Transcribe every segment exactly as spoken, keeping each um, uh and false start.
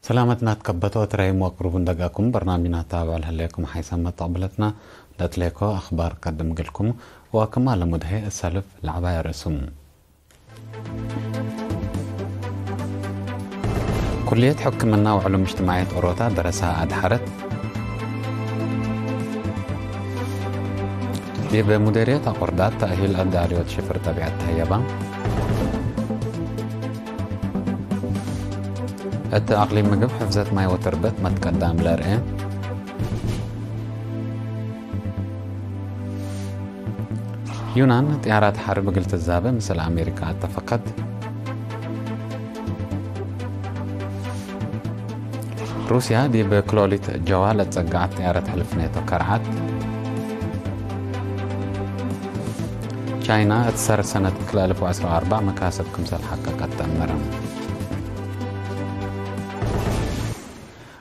ሰላመትና ትከበቶ ትረይም ወቅሩብ እንደጋኩም በርናምጅና ታብዕ ለህሌኩም ሓይሰ መተቅብለትና ለትሌኮ አኽባር ቀድም እግልኩም ወክማ ለሙድሄ እሰልፍ ለዐባይ አርእሱም። ኩልየት ሕክምና ወዕሉም እጅትማዕየት ኦሮታ ደረሳ አድሐረት። ዲብ ሙዴርየት አቆርዳት ተእሂል አዳልዮት ሽፍር ጠቢዐት ተህየባ። እት አቅሊም ምግብ ሕፍዘት ማይ ወትርበት መትቀዳም ለርኤ። ዩናን ጥያራት ሐርብ እግል ትዛበ ምስል አሜሪካ አተፈቀት። ሩስያ ዲብ ክሎሊት ጀዋ ለትጸገዐት ጥያረት ሕልፍ ኔቶ ከርዐት። ቻይና እት ሰር ሰነት ክልኤ አልፍ ወዐስር ወአርበዕ መካሰብ ክምሰል ሐቀቀት ተአመረ።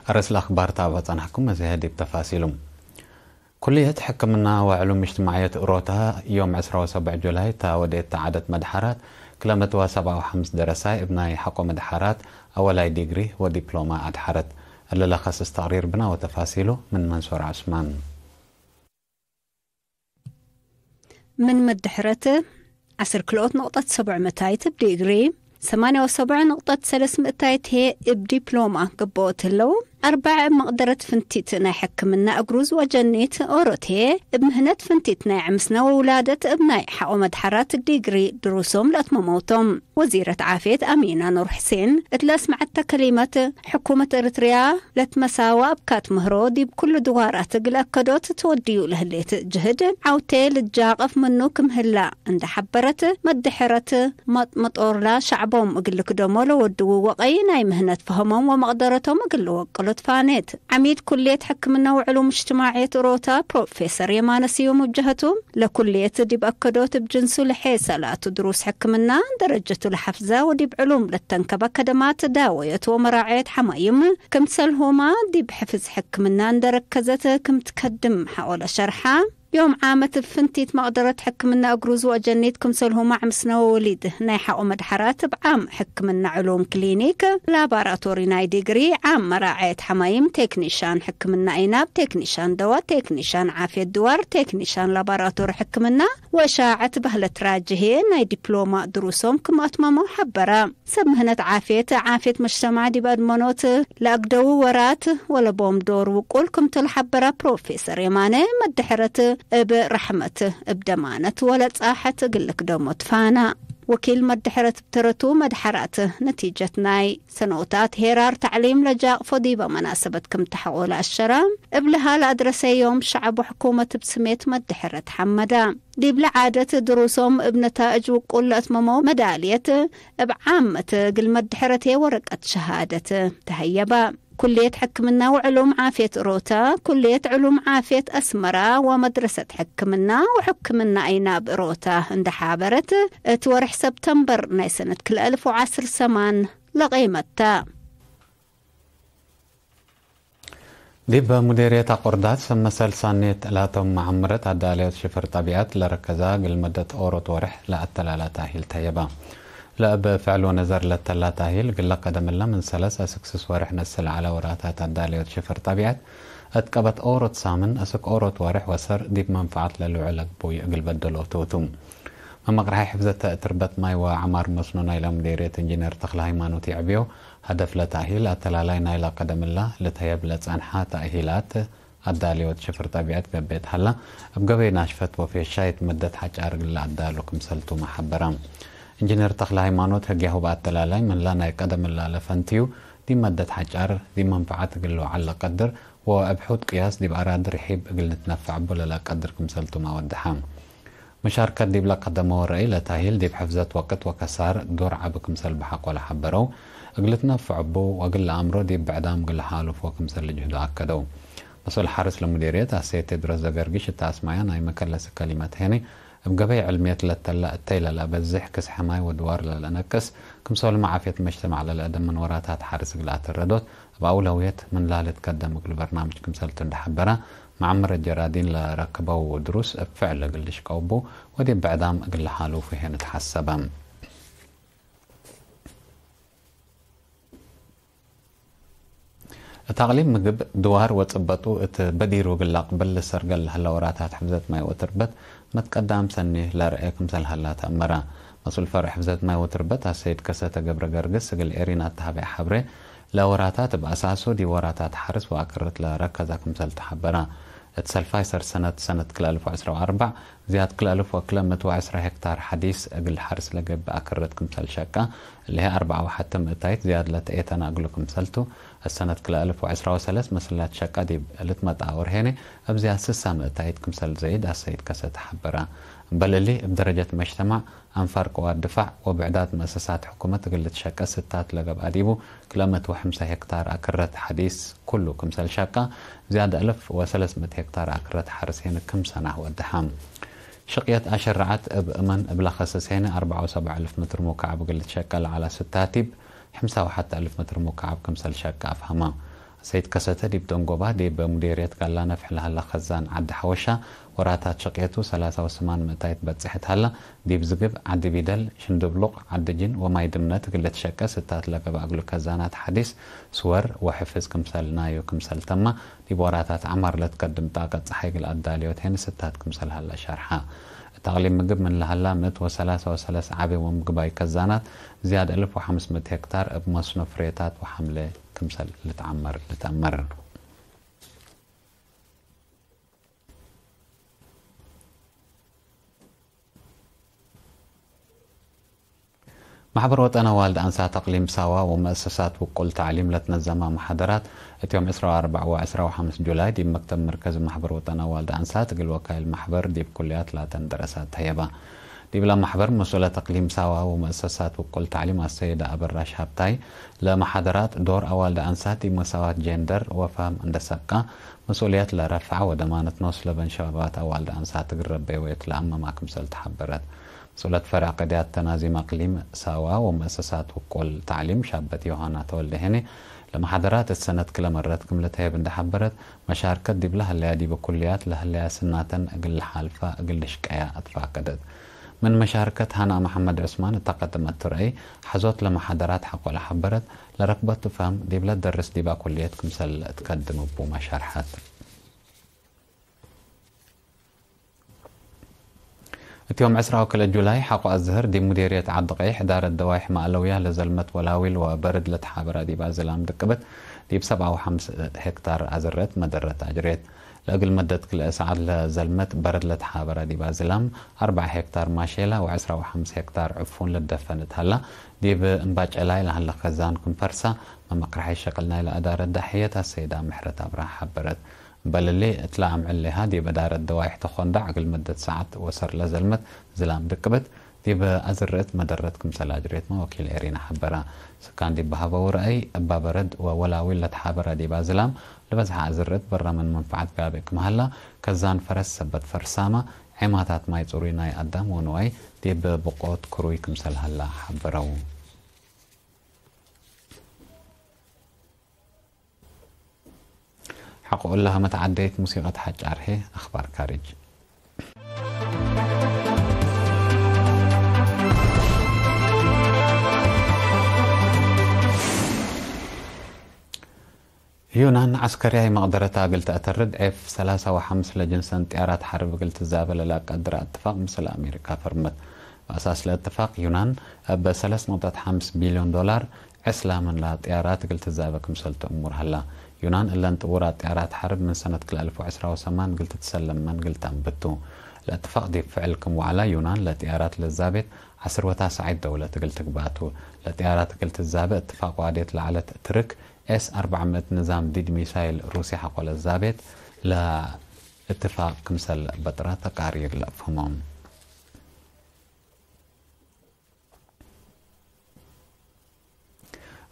አርእስ ለአኽባር ታብዕ ጸናሕኩም፣ መዝሀ ዲብ ተፋሲሉ። ኩልየት ሕክምና ወዕሉም እጅትማዕየት እሮታ ዮም ዕስራ ወሰብዕ ጁላይ እታ ወዴት ተዓደት መድሐራት ክለ ምእት ወሰብዓ ወሐምስ ደረሳይ እብ ናይ ሐቆ መድሐራት አወላይ ዲግሪ ወዲፕሎማ አድሐረት። እሊ ለከስስ ተቅሪር ብና ወተፋሲሉ ምን መንሱር ዑስማን። ምን መድሕረት ዐስር ክልኦት ንቅጠት ሰብዑ ምእታይት እብ ዲግሪ፣ ሰማንያ ወሰብዑ ንቅጠት ሰለስ ምእታይት ህዬ እብ ዲፕሎማ ገብኦት ህለው፣ አርበዕ እብ መቅደረት ፍንቲት ናይ ሕክምና እግሩዝ ወጀኒት ኦሮት ህዬ እብ ምህነት ፍንቲት ናይ ዕምስነ ወውላደት እብ ናይ ሐቆ መድሐራት ዲግሪ ድሩሶም ለአትመመው ቶም። ወዚረት ዓፍየት አሚና ኑር ሕሴን እት ለአስመዐተ ከሊመት፣ ሕኩመት ኤረትርያ ለትመሳወ አብካት ምህሮ ዲብ ኩሉ ድዋራት እግል አከዶት ትወድዩ ለህሌት ጅህድ ዐውቴ ልጃቀፍ ምኑ ክም ህላ እንዴ ሐበረት፣ መድሕረት መጥመጦርላ ሸዕቦም እግል ልክደሞ ለወድዉ ወቀይ ናይ ምህነት ፈሀሞም ወመቅደረቶም እግል ልወቅሎ ትፋኔት። ዐሚድ ኩልየት ሕክምና ወዕሉም እጅትማዕየት እሮታ ፕሮፌሰር የማነ ስዩም እብ ጀሀቱ፣ ለኩልየት ዲብ አከዶት እብ ጅንሱ ለሔሰ ላቱ ድሩስ ሕክምና ደረጀቱ ለሐፍዘ ወዲብ ዕሉም ለተንከበ ከደማት ዳወየት ወመራዐየት ሐማይም ክምሰልሁመ ዲብ ሕፍዝ ሕክምና እንዴ ረከዘት ክም ትከድም ሐቆ ለሸርሐ፣ ዮም ዓመት እብ ፍንቲት መቅደረት ሕክምና እግሩዝ ወአጀኒት ክምሰልሁመ ዕምስነ ወወሊድ ናይ ሐቆ መድሐራት እብ ዓም ሕክምና ዕሉም ክሊኒክ ላባራቶሪ ናይ ዲግሪ፣ ዓም መራዐየት ሐማይም፣ ቴክኒሻን ሕክምና አይናብ፣ ቴክኒሻን ደዋ፣ ቴክኒሻን ዓፍየት ድዋር፣ ቴክኒሻን ላባራቶሪ ሕክምና፣ ወእሻዐት በህለት ራጅ ህዬ ናይ ዲፕሎማ ድሩሶም ክም አትመመው ሐበረ። ሰብ ምህነት ዓፍየት፣ ዓፍየት መጅተማዕ ዲብ አድመኖት ለአግደዉ ወራት ወለቦም ዶር ውቁል ክምቱ ለሐበረ ፕሮፌሰር የማነ፣ መድሕረት እብ ረሕመት እብ ደማነት ወለጻሐት እግል ልክደሞ ትፋና። ወኪል መድሕረት እብ ተረቱ፣ መድሐራት ነቲጀት ናይ ሰኖታት ሄራር ተዕሊም ለጃቅፎ ዲበ መናሰበት ክም ተሐቆ ለአሸረ፣ እብልሃ ለአድረሰ ዮም ሸዐብ ወሕኩመት እብ ስሜት መድሕረት ሐመደ። ዲብለ ዓደት ድሩሶም እብ ነታእጅ ውቁል ለአትመመው መዳልየት እብ ዓመት እግል መድሕረት ህዬ ወረቀት ሸሃደት ተሀየበ። ኩልየት ሕክምና ወዕሉም ዓፍየት እሮታ፣ ኩልየት ዕሉም ዓፍየት አስመራ ወመድረሰት ሕክምና ወሕክምና አይናብ እሮታ እንዴ ሐበረት፣ እት ወርሕ ሰብተምበር ናይ ሰነት ክልኤ አልፍ ወዐስር ሰማን ለቄመት ተ። ዲብ ሙዴርየት አቆርዳት ሰብ መሰል ሳኔት ላቶም መዐምረት አዳለዮት ሽፍር ጠቢዐት ለረከዛ እግል መደት ኦሮት ወርሕ ለአተላላ ታሂል ተየባ። ለእብ ፍዕል ወነዘር ለተላ ታሂል እግል ለቀደም እለ ምን ሰለስ አስክ ስስ ወርሕ ነስል ዐለ ወራታት አዳለዮት ሽፍር ጠቢዐት እት ቀበት ኦሮት ሳምን አስክ ኦሮት ወርሕ ወሰር ዲብ መንፈዐት ለልውዕል አግቡይ እግል በደሎቱ ቱ። መመቅርሐይ ሕፍዘተ ትርበት ማይ ወዐማር መስኖ ናይለ ሙዴርየት እንጂነር ተክለ ሃይማኖት ይዕብዮ፣ ሀደፍ ለታሂል አተላላይ ናይለ ቀደምላ ልትሀየብ ለጸንሐ ተእሂላት አዳልዮት ሽፍር ጠቢዐት ገብኤት ሀላ፣ እብ ገበይ ናሽፈት ወፌሻይት መደት ሐጫር እግል ለአዳሉ ክምሰልቱመ ሐበረ። እንጂነር ተክለ ሃይማኖት፣ ህግያሁ በአተላላይ ምንላ ናይ ቀደምላ ለፈንትዩ፣ ዲብ መደት ሐጫር ዲብ መንፈዐት እግል ልውዓል ለቀድር ወእብ ሑድ ቅያስ ዲብ አራዲ ርሒብ እግል ንትነፈዕ እቡ ለለቀድር ክምሰልቱመ አወደሐ። መሻርከት ዲብ ለቀደመው ረአይ ለታሂል ዲብ ሕፍዘት ወቅት ወከሳር ዶር ዐቢ ክምሰል በሐቆ ለሐበረው፣ እግል ልትነፈዕ እቡ ወእግል ለአምሮ ዲብ ብዕዳም እግል ለሓሉፎ ክምሰል ልጅህዶ አከደው። መስኡል ሐርስ ለሙዴርየት አሰይድ ቴድሮስ ዘገርጊሽ እተ አስማያ ናይ መከለስ ከሊመት ሄኒ፣ እብ ገበይ ዕልምየት ለተለ እተይ ለለአበዝሕ ክስሐ ማይ ወድዋር ለለአነቅስ፣ ክምሰልሁመ ዓፍየት መጅተማዕ ለለአደምን ወራታት ሐርስ እግል አተረዶት፣ እብ አውለውየት ምን ላሊ ትከደም እግሉ በርናምጅ ክምሰልቱ እንዴ ሐበረ፣ መዐመረት ጀራዲን ለረክበው ድሩስ እብ ፍዕል እግል ልሽቀው እቡ ወዲብ ብዕዳም እግል ለሓሉፉ ህዬ ንትሐሰበ። እት አቅሊም ምግብ፣ ድዋር ወጽበጡ እት በዲሩ እግል ለአቅብል ልሰርገል ለህለ ወራታት ሕፍዘት ማይ ወትርበት መትቀዳም ሰኒ ለርኤ ክምሰል ሀላ ተአመረ። መስኡል ፈርዕ ሕፍዘት ማይ ወትርበት አሰይድ ከሰተ ገብረ ገርግስ እግል ኤሪና እት ሀበየ ሐብሬ፣ ለወራታት እብ አሳሱ ዲብ ወራታት ሐርስ ወአክርት ለረከዘ ክምሰል ተሐበረ። እት ሰልፋይ ሰር ሰነት፣ ሰነት ክልኤ አልፍ ወዐስራ ወአርበዕ፣ ዝያድ ክልኤ አልፍ ወክልኤ ምእት ወዐስራ ሄክታር ሐዲስ እግል ሐርስ ለገብእ አክርት ክምሰል ሸቀ፣ እሊሀ አርበዓ ወሐተ ምእታይት ዝያድ ለተኤተነ እግሉ ክምሰልቱ፣ እት ሰነት ክልኤ አልፍ ወዐስራ ወሰለስ መሰላት ሸቀ ዲብ ልትመጣ ወርሄነ እብ ዝያድ ስሳ ምእታይት ክምሰል ዘይድ አሰይድ ከሰተ ሐበረ። እምበል እሊ፣ እብ ደረጀት መጅተማዕ፣ አንፋር ቅዋት ድፋዕ ወብዕዳት መአሰሳት ሕኩመት እግል ልትሸቀ ስታት ለገብአ ዲቡ፣ ክልኤ ምእት ወሐምሳ ሄክታር አክረት ሐዲስ ኩሉ ክምሰል ሸቀ፣ ዝያድ አልፍ ወሰለስ ምእት ሄክታር አክረት ሐርስ ሄን ክም ሰናህ ወደሐ። ሽቅየት አሸረዐት እብ እመን እብ ለከስስ ሄን፣ አርበዓ ወሰብዓ አልፍ ምትር ሙካዕብ እግል ልትሸቀ ለዐለ ስታት ዲብ፣ ሐምሳ ወሐተ አልፍ ምትር ሙካዕብ ክምሰል ሸቀ አፍሀመ። ሰይድ ከሰተ ዲብ ደንጎባ፣ ዲብ ሙዴርየት ጋላ ነፍሕ ለሀለ ከዛን ዐዲ ሐወሻ፣ ወራታት ሸቅየቱ ሰላሳ ወስማን ምእታይት በጽሐት ሀላ፣ ዲብ ዝግብ፣ ዐዲ ቢደል፣ ሽንድብሉቅ፣ ዐዲ ጅን ወማይ ድምነት እግል ልትሸቀ ስታት ለገብአ እግሉ ከዛናት ሐዲስ፣ ስወር ወሕፍዝ ክምሰል ናዩ ክምሰል ተማ፣ ዲብ ወራታት ዐማር ለትቀድም ጣቀት ጸሓይ እግል አዳልዮት ሄን ስታት ክምሰል ሀላ ሸርሐ። እት አቅሊም ምግብ ምን ለሀላ ምእት ወሰላሳ ወሰለስ ዐቢ ወምግባይ ከዛናት፣ ዝያድ አልፍ ወሐምስ ምእት ሄክታር እብ መስኖ ፍሬታት ወሐምሌ ክምሰል ልትዐመር ልትአመር። ማሕበር ወጠን አዋልድ አንሳት አቅሊም ሳዋ ወመአሰሳት ውቁል ተዕሊም ለትነዘመ መሓደራት፣ እት ዮም ዕስራ ወአርበዕ ወዕስራ ወሐምስ ጁላይ ዲብ መክተብ መርከዝ ማሕበር ወጠን አዋልድ አንሳት እግል ወካይል ማሕበር ዲብ ኩልያት ላተን ደረሳት ተህየበ። ዲብለ መሕበር መስኡለት እቅሊም ሳዋ ወመአሰሳት ውቁል ተዕሊም አሰይደ አበራሽ ሀብታይ፣ ለመሓደራት ዶር አዋልድ አንሳት ዲብ መሳዋት ጀንደር ወፈህም እንደ ሰብቃ፣ መስኡልየት ለረፍዐ ወደማነት ኖስ ለበን ሸባባት አዋልድ አንሳት እግል ረቤ ወእት ለአመማ ክምሰል ተሐበረት። መስኡለት ፈርዕ ቅድያት ተናዚም እቅሊም ሳዋ ወመአሰሳት ውቁል ተዕሊም ሻበት ዮሃና ተወልደ ሄኔ፣ ለመሓደራት እት ሰነት ክለ መረት ክም ልትሀየብ እንደ ሐበረት፣ መሻርከት ዲብለ ሀለያ ዲብ ኩልያት ለሀለያ ስናተን እግል ለሓልፋ እግል ልሽቀያ አትፋቀደት። ምን መሻርከት ሃና መሐመድ ዑስማን እተ ቀደመቱ ረአይ፣ ሐዞት ለመሓደራት ሐቆ ለሐበረት፣ ለረክበቱ ፈህም ዲብለ ደርስ ዲባ ኩልየት ክምሰል እትከድም እቡመ ሸርሐት። እት ዮም ዕስራ ወክልኤ ጁላይ ሐቆ አዝህር ዲብ ሙዴርየት ዐዲ ቀይሕ ዳረት ደዋይሕ መአለውያ ለዘልመት ወላዊል ወበርድ ለተሓበረ ዲብ አዝላም ድቅብት ዲብ ሰብዓ ወሐምስ ሄክታር አዝረት መደረት አጅሬት። ለእግል መደት ክልኤ ሰዓት ለዘልመት በርድ ለተሓበረ ዲብ አዝላም አርበዕ ሄክታር ማሼላ ወዕስራ ወሐምስ ሄክታር ዕፉን ልደፈን እት ሀላ፣ ዲብ እምባጨላይ ለሀለ ከዛን ክም ፈርሳ፣ መመቅረሐይ ሸቅል ናይለ አዳረት ዳሕየት አሰይዳ ምሕረት አብርሃ ሐበረት። እምበል እሊ፣ እትለ አምዕል ሌሃ ዲብ እዳረት ደዋይሕ ተኾንዳዕ እግል መደት ሰዓት ወሰር ለዘልመት ዝላም ድቅብት፣ ዲብ አዝርዕት መደረት ክምሰል አጅሬትመ ወኪል ኤሪና ሐበረ። ስካን ዲብ በሀበው ረአይ፣ እባ በረድ ወወላዊል ለተሓበረ ዲብ አዝላም ለበዝሐ አዝርዕት በረ ምን መንፈዐት ጋብእ ክም ሀላ፣ ከዛን ፈረስ ሰበት ፈርሳመ፣ ዔማታት ማይ ጽሩይ ናይ አዳም ወንዋይ ዲብ ብቆት ክሩይ ክምሰል ሀላ ሐበረው። ሐቆ እለ ሀመት ዐደይት ሙሲቀት ሐጫር ህዬ፣ አኽባር ካርጅ። ዩናን ዐስከርያይ መቅደረታ እግል ተአተርድ ኤፍ ሰላሳ ወሐምስ ለጅንሰን ጥያራት ሐርብ እግል ትዛበ ለለአቀድረ እትፋቅ ምስል አሜሪካ ፈርመት። በአሳስ ለእትፋቅ ዩናን እብ ሰለስ ነጥብ ሐምስ ቢልዮን ዶላር ዕስላ ምንላ ጥያራት እግል ትዛበ ክምሰል ተእሙር ሀላ። ዩናን እለን ጥውራት ጥያራት ሐርብ ምን ሰነት ክልኤ አልፍ ወዕስራ ወሰማን እግል ትትሰለም መንግል ተአንብት ቱ። ለእትፋቅ ዲብ ፍዕል ክም ወዐለ ዩናን ለጥያራት ለዛቤት ዐስር ወታሰዓይት ደውለት እግል ትግባእ ቱ። ለጥያራት እግል ትዛበ እትፋቅ ዋዴት ለዐለት ትርክ ኤስ አርበዕ ምእት ንዛም ዲድ ሚሳይል ሩስየ ሐቆ ለዛቤት ለእትፋቅ ክምሰል በጥረ ተቃሪር ለአፍህሞም።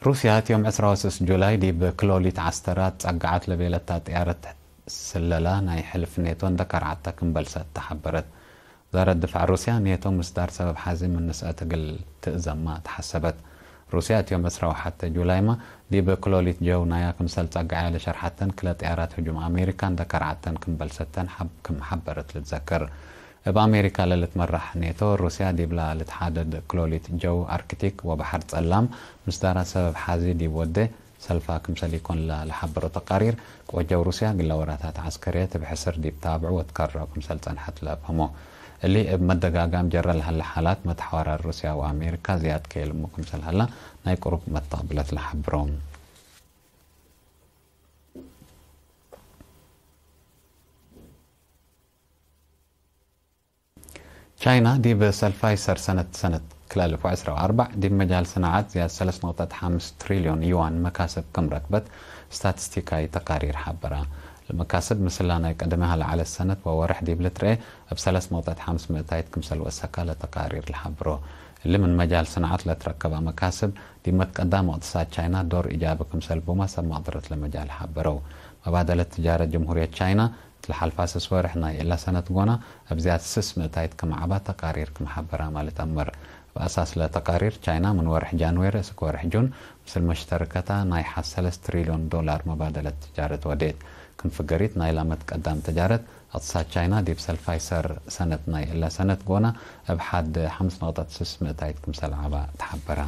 ሩስያ እት ዮም ዕስራ ወስስ ጁላይ ዲብ ክሎሊት ዐስተራት ጸግዐት ለቤለታ ጥያረት ስለላ ናይ ሕልፍ ኔቶ እንደ ከርዐተ ክም በልሰት ተሐበረት። ወዛረት ድፋዕ ሩስያ፣ ኔቶ ምስዳር ሰበብ ሓዚ ምን ንስአት እግል ትእዘማ ተሐሰበት። ሩስያ እት ዮም ዕስራ ወሐተ ጁላይመ ዲብ ክሎሊት ጀው ናያ ክምሰል ጸግዐያ ለሸርሐተን ክለ ጥያራት ህጁም አሜሪካ እንደ ከርዐተን ክም በልሰተን ሐብ-፣ ክም ሐበረት ልትዘከር። እብ አሜሪካ ለልትመራሕ ኔቶ፣ ሩስያ ዲብላ ልትሓደድ ክሎሊት ጀው አርክቲክ ወበሐር ጸላም ምስዳራ ሰበብ ሓዚ ዲብ ወዴ ሰልፋ ክምሰል ኢኮን ለሐበሮ ተቃሪር፣ ቅወጀው ሩስያ ግለ ወራታት ዐስከርየት እብ ሕስር ዲብ ታብዑ ወትከርዖ ክምሰል ጸንሐት ለአፍሀሞ። እሊ እብ መደጋጋም ጀረ ለሀለ ሓላት መትሐዋራር ሩስያ ወአሜሪካ ዝያድ ከየልሙ ክምሰል ሀላ ናይ ቅሩብ መተቅብለት ለሐብሮ። ቻይና ዲብ ሰልፋይ ሰር ሰነት ሰነት ክልኤ አልፍ ወዐስራ ወአርበዕ ዲብ መጃል ሰናዐት ዝያድ ሰለስ ነቅጠት ሐምስ ትሪልዮን ዩዋን መካስብ ክም ረክበት ስታትስቲካይ ተቃሪር ሐበራ። ለመካስብ ምስላ ናይ ቀደመሃ ለዐለት ሰነት ወወርሕ ዲብ ልትርኤ እብ ሰለስ ነቅጠት ሐምስ ምእታይት ክምሰል ወሰካ ለተቃሪር ለሐብሮ። እሊ ምን መጃል ሰናዐት ለትረከበ መካስብ ዲብ መትቀዳም እቅትሳድ ቻይና ዶር ኢጃቢ ክምሰል ቡመ ሰብ መቅደረት ለመጃል ሐበረው። መባደለት ትጃረት ጀምሁርየት ቻይና እት ለሐልፋ ስስ ወርሕ ናይ እለ ሰነት ጎና እብ ዝያድ ስስ ምእታይት ክም ዐባ ተቃሪር ክም ሐበራመ ልትአመር። እብ አሳስ ለተቃሪር ቻይና ምን ወርሕ ጃንዌሪ እስክ ወርሕ ጁን ምስል መሽተርከታ ናይ ሐድ ሰለስ ትሪልዮን ዶላር መባደለት ትጃረት ወዴት። ክም ፍገሪት ናይላ መትቀዳም ትጃረት እቅትሳድ ቻይና ዲብ ሰልፋይ ሰር ሰነት ናይ እለ ሰነት ጎና እብ ሐድ ሐምስ ነቅጠት ስስ ምእታይት ክምሰል ዐባ ተሐበራ።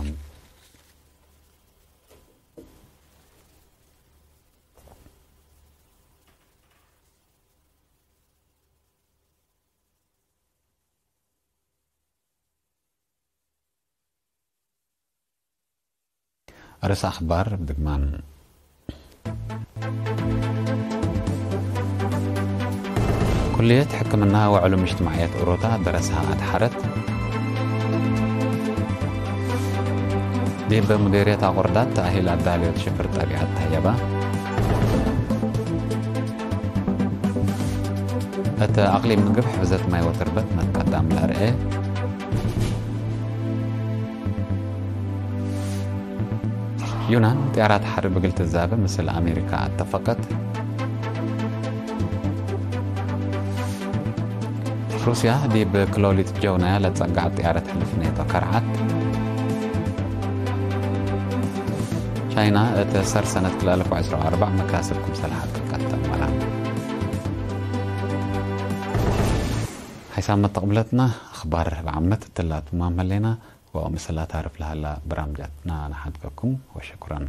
ርእሰ አኽባር እብ ድግማን። ኩልየት ሕክምና ወዕሉም እጅትማዕየት ኡሮታ ደረስሃ አድሐረት። ዲብ ሙዲርየት አቁርዳት ተእሂል አዳልዮት ሽፍር ጠቢዐት ተህየባ። እት አቅሊም ምግብ ሕፍዘት ማይ ወትርበት መትቀዳም ለአርኤ። ዩናን ጥያራት ሐርብ እግል ትዛበ ምስል አሜሪካ አተፈቀት። ሩስያ ዲብ ክሎሊት ጀውናያ ለጸጋዕ ጥያረት ሕልፍ ኔቶ ከርዐት። ቻይና እት ሰር ሰነት ክልኤ አልፍ ወዐስራ ወአርበዕ መካስብ ክምሰል ሐቅቀት ተመራ። ሐይሳም መተቅብለትና አኽባር እብ ዓመት እትላ ትማም ህሌና ወምስል አታርፍ ለሀላ በራምጃትና ነሓድገኩም ወሸኩረን።